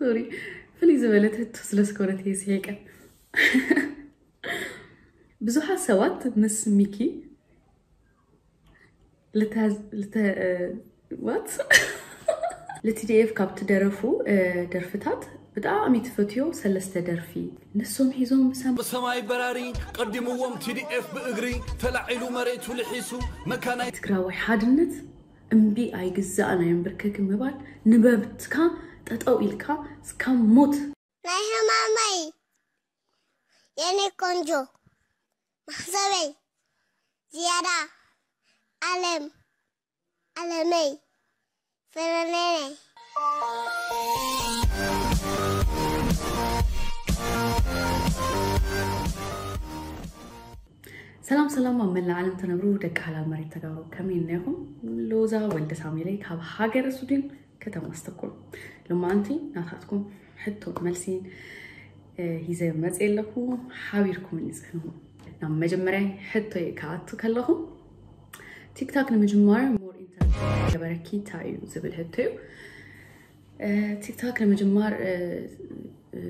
ሶሪ፣ ፍልይ ዝበለት ህቶ ስለ ዝኾነት እየ ስሒቀ። ብዙሓት ሰባት ምስ ሚኪ ልተ- ልተ- what? ል ቲ ዲ ኤፍ ካብ ትደረፉ ደርፍታት ብጣዕሚ ትፈትዮ ሰለስተ ደርፊ፣ ንሶም ሒዞም ብሰም- ብሰማይ በራሪ ቀዲምዎም ቲ ዲ ኤፍ ብእግሪ ተላዒሉ መሬቱ ልሒሱ መካናይ ትግራዋይ ሓድነት እምቢ ኣይግዛእናዮን ብርከክ ምባል፣ ንመብትካ ጠጠው ኢልካ እስካብ ሞት ናይ ህማመይ የኔ ቆንጆ ማህሰበይ ዝያዳ ዓለም ዓለመይ ፈረነነይ ሰላም ሰላም ኣብ መላእ ዓለም ትነብሩ ደቂ ሓላል መሬት ተጋሩ ከመይ እኒኹም? ሎዛ ወልደ ሳሙኤለይ ካብ ሃገረ ሱዲን ከተማ ስተኮልም። ሎማዓንቲ ናታትኩም ሕቶ መልሲ እ፣ ሂዘ መፅእ ኣለኹ። ሓቢርኩም እንፅህኑ ናብ መጀመርያ ሕቶ ክኣቱ ከለኹ ቲክታክ ንምጅማር more interest ገበረኪ እንታይ እዩ ዝብል ሕቶ እዩ። እ፣ ቲክታክ ንምጅማር እ፣ እ፣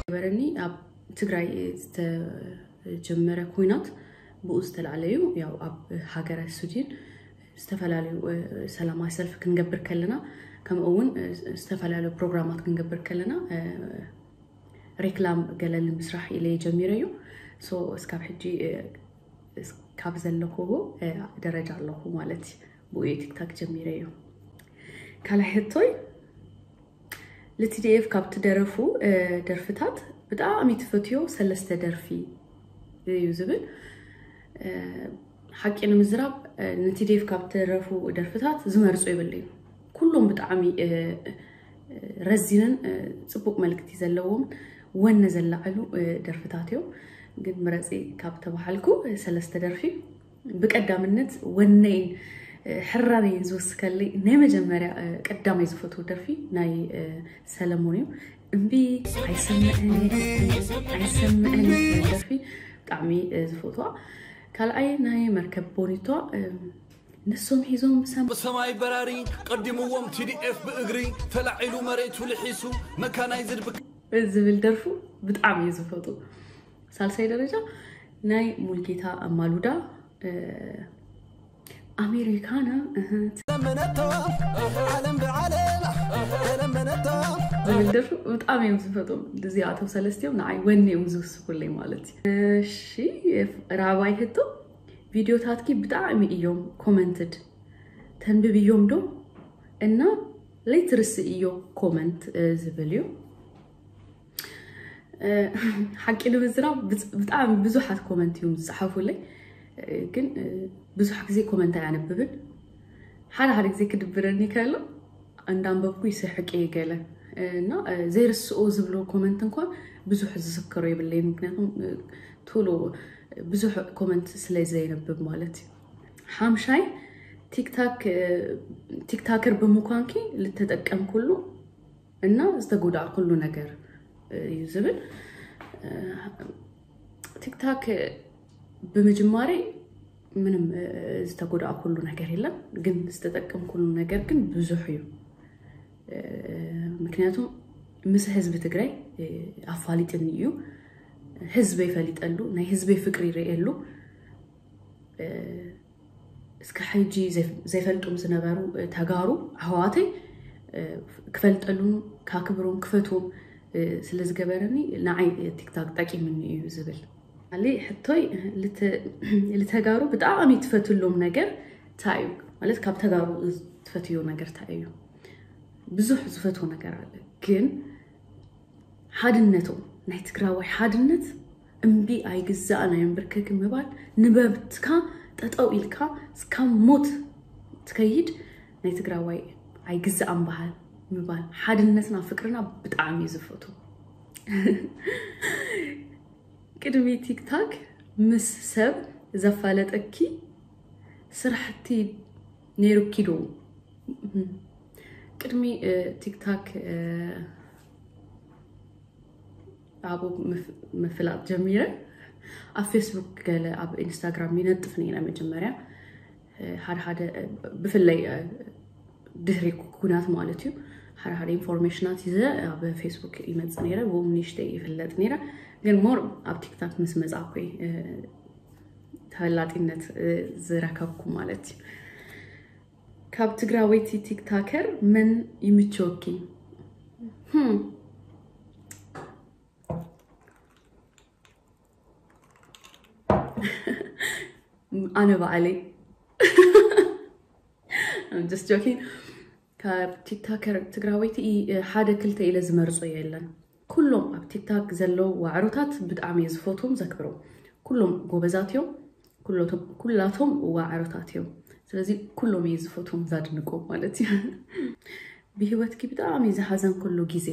ገበረኒ ኣብ ትግራይ ዝተጀመረ ኩናት ብኡ ዝተላዕለ እዩ። ያው ኣብ ሃገረ ሱዲን ዝተፈላለዩ እ፣ ሰላማዊ ሰልፊ ክንገብር ከለና ከምኡ እውን እ፣ ዝተፈላለዩ ፕሮግራማት ክንገብር ከለና እ፣ ሬክላም ገለ ንምስራሕ ኢለ ጀሚረ እዩ። ሶ እስካብ ሕጂ እ፣ እስ- ካብ ዘለኹዎ እ፣ ደረጃ ኣለኹ ማለት እዩ። ብኡ ቲክታክ ጀሚረ እዩ። ካልኣይ ሕቶይ ል ቲ ዲ ኤፍ ካብ ትደረፉ እ፣ ደርፍታት ብጣዕሚ ትፈትዮ ሰለስተ ደርፊ እዩ ዝብል እ፣ ሓቂ ንምዝራብ እ፣ ን ቲ ዲ ኤፍ ካብ ትደረፉ ደርፍታት ዝመርጾ የብለይን። ኩሎም ብጣዕሚ እ፣ እ፣ ረዚንን እ፣ ጽቡቅ መልእክቲ ዘለዎም ወነ ዘላዕሉ እ፣ ደርፍታት እዮም። ግን ምረጺ ካብ ተባሃልኩ እ፣ ሰለስተ ደርፊ ብቀዳምነት ወነይን እ፣ ሕራነይን ዝውስከለይ ናይ መጀመርያ እ፣ ቀዳማይ ዝፈትዎ ደርፊ ናይ እ፣ ሰለሞን እዩ። እምቢ ኣይሰምዕን እየ፣ ኣይሰምዕን እየ ደርፊ ብጣዕሚ እ፣ ዝፈትዋ። ካልኣይ ናይ መርከብ ቦኒቷ እ፣ ንሶም ሒዞም ብሰም ብሰማይ በራሪ ቀዲምዎም ቲ ዲ ኤፍ ብእግሪ ተላዒሉ መሬቱ ልሒሱ መካናይዝድ ብክ ዝብል ደርፉ ብጣዕሚ እዩ ዝፈቱ። ሳልሳይ ደረጃ ናይ ሙልጌታ ማሉዳ እ፣ ኣሜሪካና እህ፣ ለመነቶ ዓለም ብዓለም ተለመነቶ ዝብል ደርፉ ብጣዕሚ እዮም ዝፈትዎም። እዚኣቶም ሰለስቲኦም ንዓይ ወነ እዮም ዝውስኩለይ ማለት እዩ። እሺ ራባይ ህቶ ቪድዮታትኪ ብጣዕሚ እዮም ኮመንትድ ተንብብዮም ዶ እና ለይትርስእዮ ኮመንት እ፣ ዝብል እዩ። እ፣ ሓቂ ንምዝራብ ብጽ- ብጣዕሚ ብዙሓት ኮመንት እዮም ዝፅሓፉለይ እ፣ ግን እ፣ ብዙሕ ግዜ ኮመንት ኣያነብብን። ሓደ ሓደ ግዜ ክድብረኒ ከሎ እንዳንበብኩ ይስሕቅ እየ ገለ እ፣ እና እ፣ ዘይርስኦ ዝብሎ ኮመንት እንኳን ብዙሕ ዝዝክሮ የብለይን። ምክንያቱም እ፣ ቶሎ ብዙሕ ኮመንት ስለ ዘይነብብ ማለት እዩ። ሓምሻይ ቲክታክ እ፣ ቲክታከር ብምኳንኪ ልተጠቀምኩሉ እና ዝተጎዳእኩሉ ነገር እዩ ዝብል እ፣ ቲክታክ ብምጅማሬ ምንም እ፣ ዝተጎዳእኩሉ ነገር የለን፣ ግን ዝተጠቀምኩሉ ነገር ግን ብዙሕ እዩ። እ፣ ምክንያቱም ምስ ህዝቢ ትግራይ እ፣ ኣፋሊጥኒ እዩ። ህዝበይ ፈሊጠሉ፣ ናይ ህዝበይ ፍቅሪ ይርእየሉ። እ፣ እስከ ሕጂ ዘይፍ- ዘይፈልጡም ዝነበሩ እ፣ ተጋሩ ኣሕዋተይ እ፣ ክፈልጠሉን ካክብሮም ክፈትዎም እ፣ ስለ ዝገበረኒ ንዓይ እ፣ ቲክታክ ጠቂምኒ እዩ ዝብል። ካሊ ሕቶይ ልተ- ልተጋሩ ብጣዕሚ ትፈትሎም ነገር እንታይ እዩ? ማለት ካብ ተጋሩ ትፈትዮ ነገር እንታይ እዩ? ብዙሕ ዝፈትዎ ነገር ኣለ፣ ግን ሓድነቶም ናይ ትግራዋይ ሓድነት እምቢ ኣይግዛእናዮን ብርከክ ምባል፣ ንመብትካ ጠጠው ኢልካ እስካብ ሞት ትከይድ ናይ ትግራዋይ ኣይግዛእን በሃል ምባል፣ ሓድነትና ፍቅርና ብጣዕሚ እዩ ዝፈቱ። ቅድሚ ቲክታክ ምስ ሰብ ዘፋለጠኪ ስራሕቲ ነይሩኪ ዶ? ቅድሚ እ፣ ቲክታክ እ፣ ኣብኡ ምፍ- ምፍላጥ ጀሚረ ኣብ ፌስቡክ ገለ ኣብ ኢንስታግራም ይነጥፍ ነይረ መጀመርያ እ፣ ሓደ ሓደ እ፣ ብፍለይ እ፣ ድሕሪ ኩናት ማለት እዩ። ሓደ ሓደ ኢንፎርሜሽናት ይዘ ኣብ ፌስቡክ ይመጽእ ነይረ፣ ብኡ ንእሽተይ ይፍለጥ ነይረ። ግን ሞር ኣብ ቲክታክ ምስ መጻእኩ እየ ተፈላጢነት ዝረከብኩ ማለት እዩ። ካብ ትግራወይቲ ቲክታከር መን ይምችወኪ? ኣነ በዓለይ። Just joking። ካብ ቲክታከር ትግራወይቲ ሓደ ክልተ ኢለ ዝመርጾ የለን። ኩሎም ኣብ ቲክታክ ዘለዉ ዋዕሮታት ብጣዕሚ እየ ዝፈትዎም ዘክብሮም። ኩሎም ጎበዛት እዮም። ኩላቶም ዋዕሮታት እዮም። ስለዚ ኩሎም እየ ዝፈትዎም ዛድንቆም ማለት እዩ። ብህይወትኪ ብጣዕሚ ዝሓዘንኩሉ ግዜ?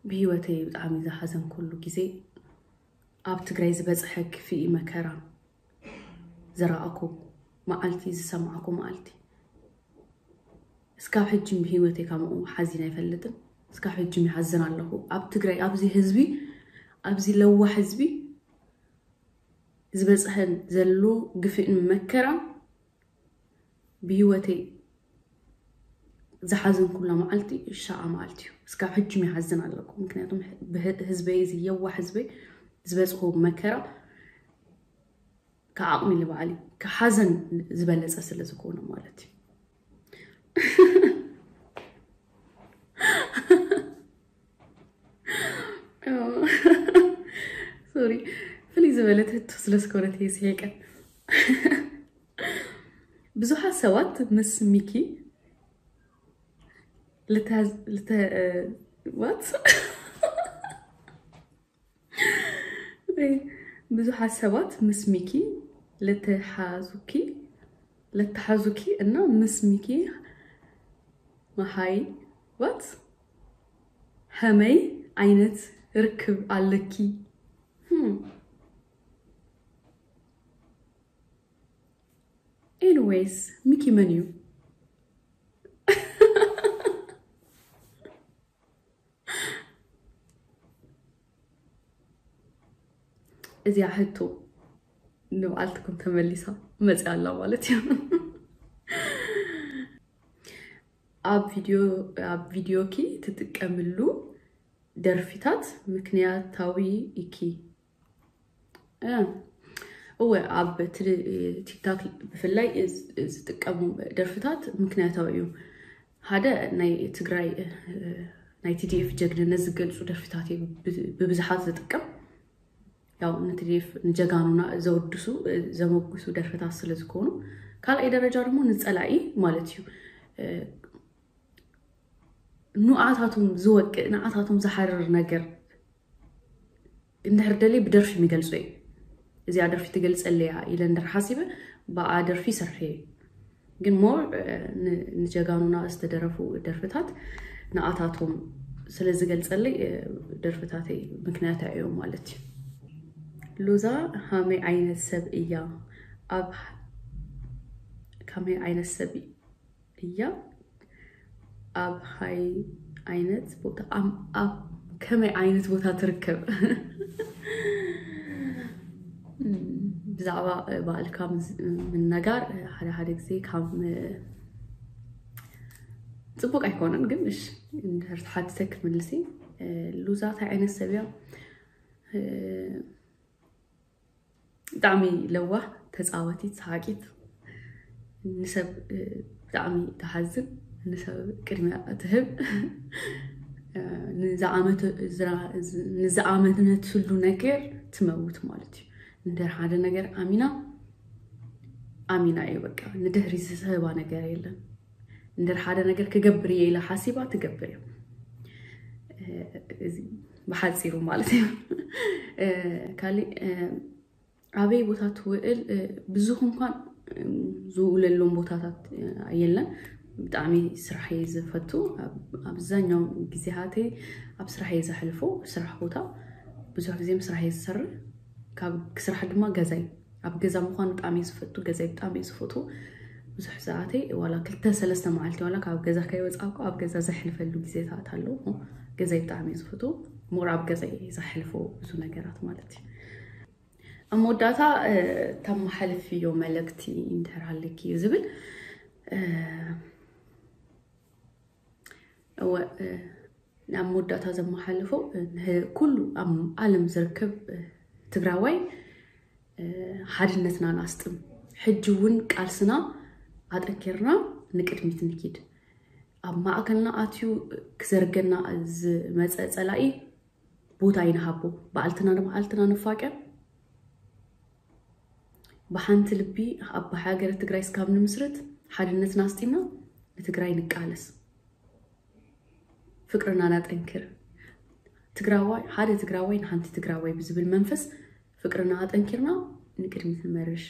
ብህይወተይ ብጣዕሚ ዝሓዘንኩሉ ግዜ ኣብ ትግራይ ዝበፅሐ ክፍኢ መከራ ዝረኣኩ መዓልቲ፣ ዝሰማዕኩ መዓልቲ። እስካብ ሕጂ ብህይወተይ ከምኡ ሓዚን ኣይፈልጥን። እስካብ ሕጂ ይሓዝን ኣለኹ። ኣብ ትግራይ ኣብዚ ህዝቢ፣ ኣብዚ ለዋህ ህዝቢ ዝበፅሐን ዘሎ ግፍእን መከራን ብህይወተይ ዝሓዘንኩላ መዓልቲ ሻዓ መዓልቲ እዩ። እስካብ ሕጂ ይሓዝን ኣለኩ። ምክንያቱም ህዝበይ፣ እዚ የዋህ ህዝበይ ዝበፅሑ መከራ ከዓቕሚ ንባዕሊ ከሓዘን ዝበለፀ ስለ ዝኾነ ማለት እዩ። ሶሪ፣ ፍልይ ዝበለት ህቶ ስለ ዝኾነት እየ ስሒቀ። ብዙሓት ሰባት ምስ ሚኪ ልተ- ልተ- what? ብዙሓት ሰባት ምስ ሚኪ ልተሓዙኪ ልተሓዙኪ እና ምስ ሚኪ መሃይ what? ሀመይ ዓይነት ርክብ ኣለኪ? Hmm. Anyways, ሚኪ መን እዩ? እዚኣ ሕቶ ንብዓልትኩም ተመሊሳ መፅያ ኣላ ማለት እዩ። ኣብ ቪድዮ ኣብ ቪድዮኪ ትጥቀምሉ ደርፊታት ምክንያታዊ ኢኪ? እ፣ እወ፣ ኣብ ትል- ቲክታክ ብፍላይ ዝ- ዝጥቀሙ ደርፍታት ምክንያታዊ እዩ። ሓደ ናይ ትግራይ እ፣ ናይ ቲዲኤፍ ጀግንነት ዝገልፁ ደርፍታት እዩ ብ- ብብዝሓት ዝጥቀም። ያው ንቲዲኤፍ ንጀጋኑና ዘወድሱ እ፣ ዘመጉሱ ደርፍታት ስለ ዝኾኑ፣ ካልኣይ ደረጃ ደግሞ ንፀላኢ ማለት እዩ እ፣ ንዓታቶም ዝወቅእ ንዓታቶም ዝሓርር ነገር እንድሕር ደልየ ብደርፊ ይገልጾ እዩ። እዚኣ ደርፊ ትገልጸለይ እያ ኢለ እንድሕር ሓሲበ ብኣ ደርፊ ይሰርሕ እየ። ግን ሞር ንጀጋኑና ዝተደረፉ ደርፍታት ንኣታቶም ስለ ዝገልጸለይ እ፣ ደርፍታተይ ምክንያት እዮም ማለት እዩ። ሉዛ ሃመይ ዓይነት ሰብ እያ? ኣብ ካመይ ዓይነት ሰብ እያ? ኣብ ሃይ ዓይነት ቦታ ኣብ ኣብ ከመይ ዓይነት ቦታ ትርከብ? ብዛዕባ ባዕልካ ምስ- ምንጋር ሓደ ሓደ ግዜ ካብ ም- ፅቡቅ ኣይኮነን፣ ግን እሺ እንድሕር ተሓቲተ ክምልሲ። ሉዛ እንታይ ዓይነት ሰብ እያ? ብጣዕሚ ለዋህ፣ ተፃወቲት፣ ሰሓቂት፣ ንሰብ ብጣዕሚ ትሓዝን፣ ንሰብ ቅድሚያ ትህብ፣ ንዝኣመነትሉ ነገር ትመውት ማለት እዩ። እንድሕር ሓደ ነገር ኣሚና ኣሚና እዩ በቃ፣ ንድሕሪ ዝስህባ ነገር የለን። እንድሕር ሓደ ነገር ክገብር እየ ኢላ ሓሲባ ትገብር እያ። እዚ ብሓፂሩ ማለት እዩ። ካሊእ ኣበይ ቦታ ትውዕል? ብዙኹም እንኳን ዝውለሎም ቦታታት የለን። ብጣዕሚ ስራሕ እየ ዝፈቱ። ኣብዛኛው ግዜያተይ ኣብ ስራሕ እየ ዘሕልፎ። ስራሕ ቦታ ብዙሕ ግዜ ስራሕ እየ ዝሰርሕ። ካብ ስራሕ ድማ ገዛይ ኣብ ገዛ ምኳን ብጣዕሚ እየ ዝፈቱ። ገዛይ ብጣዕሚ እየ ዝፈቱ። ብዙሕ ሰዓተይ ዋላ ክልተ ሰለስተ መዓልቲ ዋላ ካብ ገዛ ከይወፃእኩ ኣብ ገዛ ዘሕልፈሉ ግዜታት ኣለዉ። ገዛይ ብጣዕሚ እየ ዝፈቱ። ሞር ኣብ ገዛይ እየ ዘሕልፎ ብዙ ነገራት ማለት እዩ። ኣብ መወዳእታ ተመሓልፍዮ መልእክቲ እንድሕር ሃለኪ እዩ ዝብል። እወ፣ ኣብ መወዳእታ ዘመሓልፎ ኩሉ ኣብ ዓለም ዝርከብ ትግራዋይ ሓድነትና ናስጥም። ሕጂ እውን ቃልስና ኣጠንኪርና ንቅድሚት ንኪድ። ኣብ ማእከልና ኣትዩ ክዘርገና ዝመፀ ፀላኢ ቦታ ይንሃቦ። በዓልትና ንበዓልትና ንፋቀር። ብሓንቲ ልቢ ኣብ ሃገረ ትግራይ እስካብ ንምስርት ሓድነትና ኣስጢምና ንትግራይ ንቃለስ። ፍቅርና ናጠንክር። ትግራዋይ ሓደ ትግራዋይ ንሓንቲ ትግራዋይ ብዝብል መንፈስ ፍቅርና ኣጠንኪርና ንቅድሚት ንመርሽ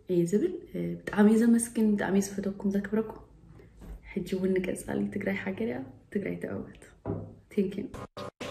እየ ዝብል። ብጣዕሚ እየ ዘመስግን፣ ብጣዕሚ እየ ዝፈተኩም ዘክብረኩም። ሕጂ እውን ንቀፃሊ ትግራይ ሓገር እያ። ትግራይ ትዕወት። Thank you።